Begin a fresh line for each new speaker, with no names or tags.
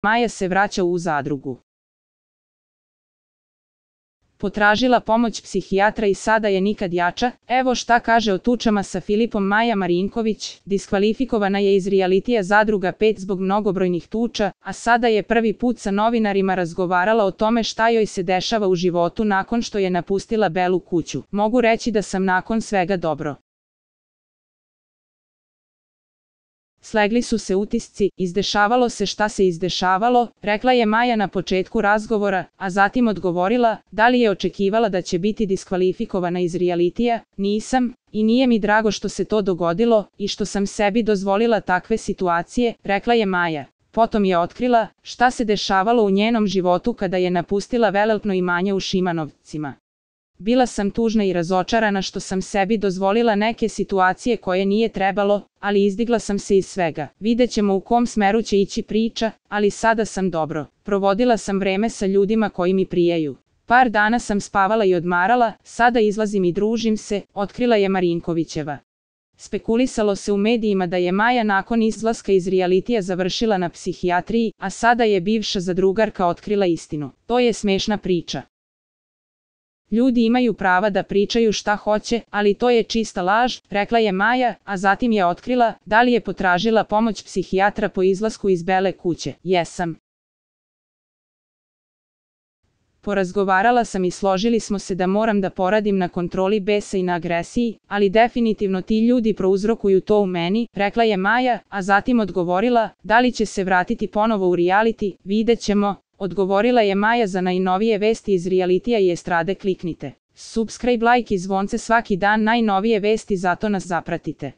Maja se vraća u zadrugu. Potražila pomoć psihijatra i sada je nikad jača. Evo šta kaže o tučama sa Filipom Maja Marinković. Diskvalifikovana je iz realitija Zadruga 5 zbog mnogobrojnih tuča, a sada je prvi put sa novinarima razgovarala o tome šta joj se dešava u životu nakon što je napustila Belu kuću. Mogu reći da sam nakon svega dobro. Slegli su se utisci, izdešavalo se šta se izdešavalo, rekla je Maja na početku razgovora, a zatim odgovorila, da li je očekivala da će biti diskvalifikovana iz realitija, nisam, i nije mi drago što se to dogodilo, i što sam sebi dozvolila takve situacije, rekla je Maja. Potom je otkrila, šta se dešavalo u njenom životu kada je napustila veleltno imanje u Šimanovcima. Bila sam tužna i razočarana što sam sebi dozvolila neke situacije koje nije trebalo, ali izdigla sam se iz svega. Vidjet ćemo u kom smeru će ići priča, ali sada sam dobro. Provodila sam vreme sa ljudima koji mi prijaju. Par dana sam spavala i odmarala, sada izlazim i družim se, otkrila je Marinkovićeva. Spekulisalo se u medijima da je Maja nakon izlaska iz realitija završila na psihijatriji, a sada je bivša zadrugarka otkrila istinu. To je smešna priča. Ljudi imaju prava da pričaju šta hoće, ali to je čista laž, rekla je Maja, a zatim je otkrila, da li je potražila pomoć psihijatra po izlasku iz Bele kuće. Jesam. Porazgovarala sam i složili smo se da moram da poradim na kontroli besa i na agresiji, ali definitivno ti ljudi prouzrokuju to u meni, rekla je Maja, a zatim odgovorila, da li će se vratiti ponovo u reality, vidjet ćemo. Odgovorila je Maja. Za najnovije vesti iz realitija i estrade kliknite subscribe, like i zvonce svaki dan, najnovije vesti, zato nas zapratite.